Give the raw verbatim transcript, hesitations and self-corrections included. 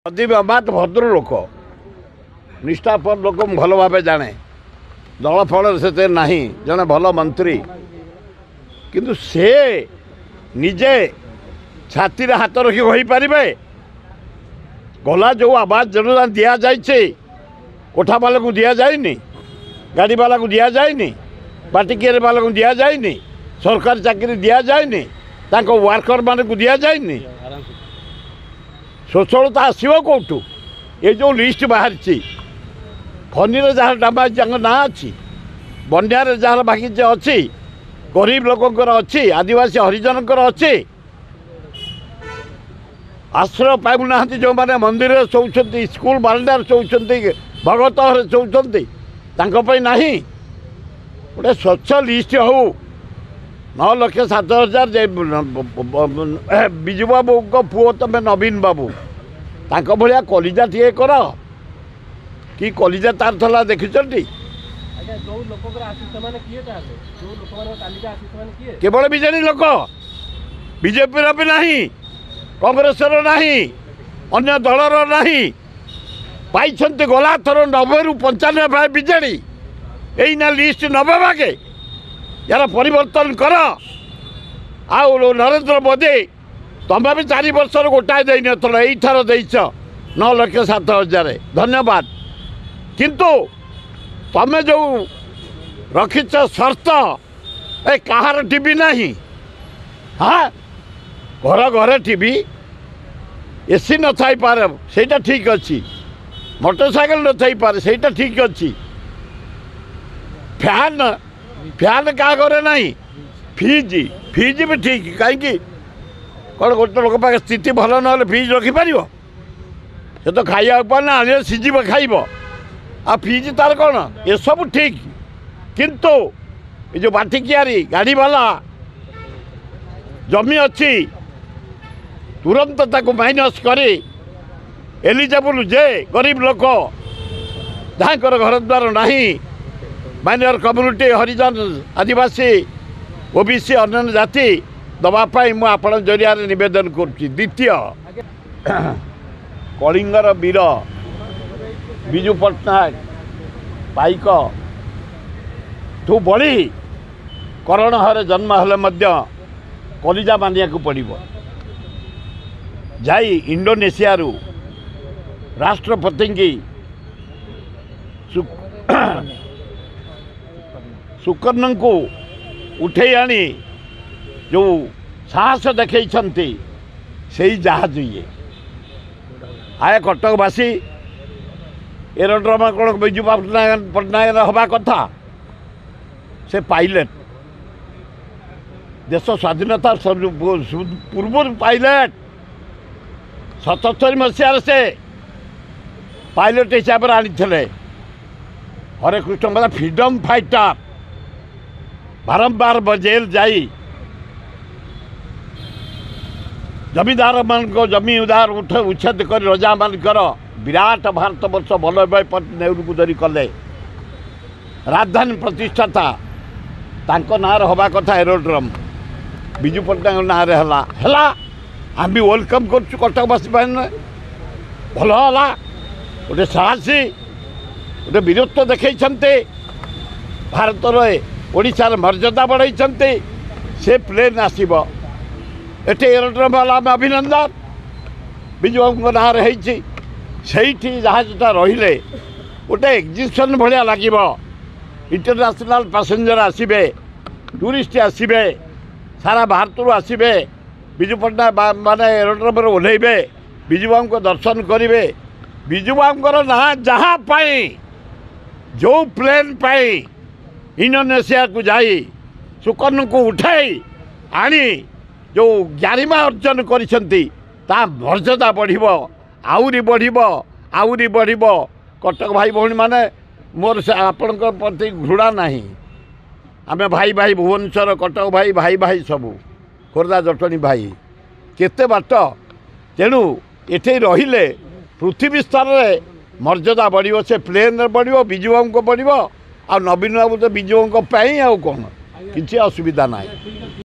ପ୍ରଦୀପ ଅମାତ ଭଦ୍ର ଲୋକ, ନିଷ୍ଠାପର ଲୋକ, ମୁଁ ଭଲ ଭାବେ ଜାଣେ। ଦଳ ଫଳରେ ସେତେ ନାହିଁ, ଜଣେ ଭଲ ମନ୍ତ୍ରୀ, କିନ୍ତୁ ସେ ନିଜେ ଛାତିରେ ହାତ ରଖି କହିପାରିବେ ଗଲା ଯେଉଁ ଆବାସ ଯୋଜନା ଦିଆଯାଇଛି, କୋଠାବାଲାକୁ ଦିଆଯାଇନି, ଗାଡ଼ିବାଲାକୁ ଦିଆଯାଇନି, ବାଟିକିଆରିବାଲାକୁ ଦିଆଯାଇନି, ସରକାରୀ ଚାକିରି ଦିଆଯାଇନି, ତାଙ୍କ ୱାର୍କରମାନଙ୍କୁ ଦିଆଯାଇନି? ସ୍ୱଚ୍ଛଳତା ଆସିବ କେଉଁଠୁ? ଏ ଯେଉଁ ଲିଷ୍ଟ ବାହାରିଛି, ଫନିରେ ଯାହାର ଡାମା ତାଙ୍କ ନାଁ ଅଛି, ବନ୍ୟାରେ ଯାହାର ବାଗିଚା ଅଛି, ଗରିବ ଲୋକଙ୍କର ଅଛି, ଆଦିବାସୀ ହରିଜନଙ୍କର ଅଛି, ଆଶ୍ରୟ ପାଉନାହାନ୍ତି ଯେଉଁମାନେ ମନ୍ଦିରରେ ଶୋଉଛନ୍ତି, ସ୍କୁଲ ବାରଣ୍ଡାରେ ଶୋଉଛନ୍ତି, ଭଗତ ଘରେ ଶୋଉଛନ୍ତି, ତାଙ୍କ ପାଇଁ ନାହିଁ। ଗୋଟେ ସ୍ୱଚ୍ଛ ଲିଷ୍ଟ ହେଉ। ନଅ ଲକ୍ଷ ସାତ ହଜାର ବିଜୁ ବାବୁଙ୍କ ପୁଅ ତମେ ନବୀନ ବାବୁ, ତାଙ୍କ ଭଳିଆ କଲିଜା ଟିକେ କର। କି କଲିଜା ତାର ଥିଲା ଦେଖିଛନ୍ତି? କେବଳ ବିଜେଡି ଲୋକ, ବିଜେପିର ବି ନାହିଁ, କଂଗ୍ରେସର ନାହିଁ, ଅନ୍ୟ ଦଳର ନାହିଁ। ପାଇଛନ୍ତି ଗଲା ଥର ନବେରୁ ପଞ୍ଚାନବେ ଭାଗ ବିଜେଡ଼ି, ଏଇନା ଲିଷ୍ଟ ନବେ ଭାଗେ। ଏହାର ପରିବର୍ତ୍ତନ କର। ଆଉ ନରେନ୍ଦ୍ର ମୋଦି, ତମେ ବି ଚାରି ବର୍ଷର ଗୋଟାଏ ଦେଇନଥିଲ, ଏଇଥର ଦେଇଛ ନଅ ଲକ୍ଷ ସାତ ହଜାର, ଧନ୍ୟବାଦ। କିନ୍ତୁ ତମେ ଯେଉଁ ରଖିଛ ସର୍ତ୍ତ, ଏ କାହାର ଟିଭି ନାହିଁ? ହଁ, ଘର ଘରେ ଟିଭି, ଏସି ନଥାଇପାରେ, ସେଇଟା ଠିକ୍ ଅଛି। ମୋଟର ସାଇକେଲ ନଥାଇପାରେ, ସେଇଟା ଠିକ୍ ଅଛି। ଫ୍ୟାନ୍, ଫ୍ୟାନ୍ କାହା ଘରେ ନାହିଁ? ଫ୍ରିଜ୍, ଫ୍ରିଜ୍ ବି ଠିକ୍। କାହିଁକି? କ'ଣ ଗୋଟେ ଲୋକ ପାଖେ ସ୍ଥିତି ଭଲ ନହେଲେ ଫ୍ରିଜ୍ ରଖିପାରିବ? ସେ ତ ଖାଇବାକୁ ପାରୁନା, ଆଣିଲେ ସିଝିବ ଖାଇବ, ଆଉ ଫ୍ରିଜ୍ ତାର କ'ଣ? ଏସବୁ ଠିକ୍। କିନ୍ତୁ ଏ ଯେଉଁ ବାଟିକିଆରି, ଗାଡ଼ିବାଲା, ଜମି ଅଛି, ତୁରନ୍ତ ତାକୁ ମାଇନସ୍ କରି ଏଲିଜେବୁଲ୍ ଯେ ଗରିବ ଲୋକ, ଯାହାଙ୍କର ଘର ଦ୍ୱାର ନାହିଁ, ମାଇନର କମ୍ୟୁନିଟି, ହରିଜନ, ଆଦିବାସୀ, ଓ ବି ସି, ଅନ୍ୟାନ୍ୟ ଜାତି ଦେବା ପାଇଁ ମୁଁ ଆପଣଙ୍କ ଜରିଆରେ ନିବେଦନ କରୁଛି। ଦ୍ୱିତୀୟ, କଳିଙ୍ଗର ବୀର ବିଜୁ ପଟ୍ଟନାୟକ ପାଇକ ଠୁ ବଳି କରଣ ଘରେ ଜନ୍ମ ହେଲେ ମଧ୍ୟ କଲିଜା ମାନିବାକୁ ପଡ଼ିବ। ଯାଇ ଇଣ୍ଡୋନେସିଆରୁ ରାଷ୍ଟ୍ରପତିଙ୍କି ସୁକର୍ଣ୍ଣଙ୍କୁ ଉଠେଇ ଆଣି ଯେଉଁ ସାହସ ଦେଖେଇଛନ୍ତି, ସେଇ ଜାହାଜ ଇଏ। ଆଏ କଟକବାସୀ, ଏରୋଡ୍ରମ କ'ଣ ବିଜୁ ପଟ୍ଟନାୟକ ପଟ୍ଟନାୟକର ହେବା କଥା? ସେ ପାଇଲଟ, ଦେଶ ସ୍ୱାଧୀନତା ପୂର୍ବରୁ ପାଇଲଟ। ସତସ୍ତରୀ ମସିହାରେ ସେ ପାଇଲଟ ହିସାବରେ ଆଣିଥିଲେ। ହରେକୃଷ୍ଣ ଫ୍ରିଡ଼ମ୍ ଫାଇଟର, ବାରମ୍ବାର ଜେଲ୍ ଯାଇ ଜମିଦାରମାନଙ୍କ ଜମି ଉଦାର ଉଠ ଉଚ୍ଛେଦ କରି ରଜାମାନଙ୍କର ବିରାଟ ଭାରତ ବର୍ଷ ବଲ୍ଲଭଭାଇ ନେହେରୁକୁ ଧରି କଲେ। ରାଜଧାନୀ ପ୍ରତିଷ୍ଠାତା, ତାଙ୍କ ନାଁରେ ହେବା କଥା ଏରୋଡ୍ରମ୍, ବିଜୁ ପଟ୍ଟନାୟକ ନାଁରେ ହେଲା। ହେଲା, ଆମେ ବି welcome କରୁଛୁ କଟକବାସୀ ପାଇଁ, ଭଲ ହେଲା। ଗୋଟେ ସାହସୀ, ଗୋଟେ ବୀରତ୍ୱ ଦେଖେଇଛନ୍ତି, ଭାରତର ଓଡ଼ିଶାର ମର୍ଯ୍ୟାଦା ବଢ଼େଇଛନ୍ତି। ସେ ପ୍ଲେନ୍ ଆସିବ ଏଠି, ଏରୋଡ୍ରମ୍ ହେଲା, ଆମେ ଅଭିନନ୍ଦନ। ବିଜୁ ବାବୁଙ୍କ ନାଁରେ ହେଇଛି। ସେଇଠି ଜାହାଜଟା ରହିଲେ ଗୋଟେ ଏକ୍ଜିବିସନ୍ ଭଳିଆ ଲାଗିବ। ଇଣ୍ଟରନ୍ୟାସନାଲ୍ ପାସେଞ୍ଜର ଆସିବେ, ଟୁରିଷ୍ଟ ଆସିବେ, ସାରା ଭାରତରୁ ଆସିବେ, ବିଜୁ ପଟ୍ଟନାୟକ ମାନେ ଏରୋଡ୍ରମ୍ରେ ଓହ୍ଲେଇବେ, ବିଜୁ ବାବୁଙ୍କ ଦର୍ଶନ କରିବେ। ବିଜୁ ବାବୁଙ୍କର ନାଁ ଯାହା ପାଇଁ, ଯେଉଁ ପ୍ଲେନ୍ ପାଇଁ ଇଣ୍ଡୋନେସିଆକୁ ଯାଇ ସୁକର୍ଣ୍ଣକୁ ଉଠାଇ ଆଣି ଯେଉଁ ଗାରିମା ଅର୍ଜନ କରିଛନ୍ତି, ତା ମର୍ଯ୍ୟାଦା ବଢ଼ିବ, ଆହୁରି ବଢ଼ିବ, ଆହୁରି ବଢ଼ିବ। କଟକ ଭାଇ ଭଉଣୀମାନେ, ମୋର ସେ ଆପଣଙ୍କ ପ୍ରତି ଘୃଣା ନାହିଁ। ଆମେ ଭାଇ ଭାଇ, ଭୁବନେଶ୍ୱର କଟକ ଭାଇ ଭାଇ ଭାଇ ସବୁ, ଖୋର୍ଦ୍ଧା ଜଟଣୀ ଭାଇ, କେତେ ବାଟ। ତେଣୁ ଏଠି ରହିଲେ ପୃଥିବୀ ସ୍ତରରେ ମର୍ଯ୍ୟାଦା ବଢ଼ିବ, ସେ ପ୍ଲେନ୍ରେ ବଢ଼ିବ, ବିଜୁ ବାବୁଙ୍କ ବଢ଼ିବ। ଆଉ ନବୀନ ବାବୁ ତ ବିଜୁ ବାବୁଙ୍କ ପାଇଁ, ଆଉ କ'ଣ କିଛି ଅସୁବିଧା ନାହିଁ।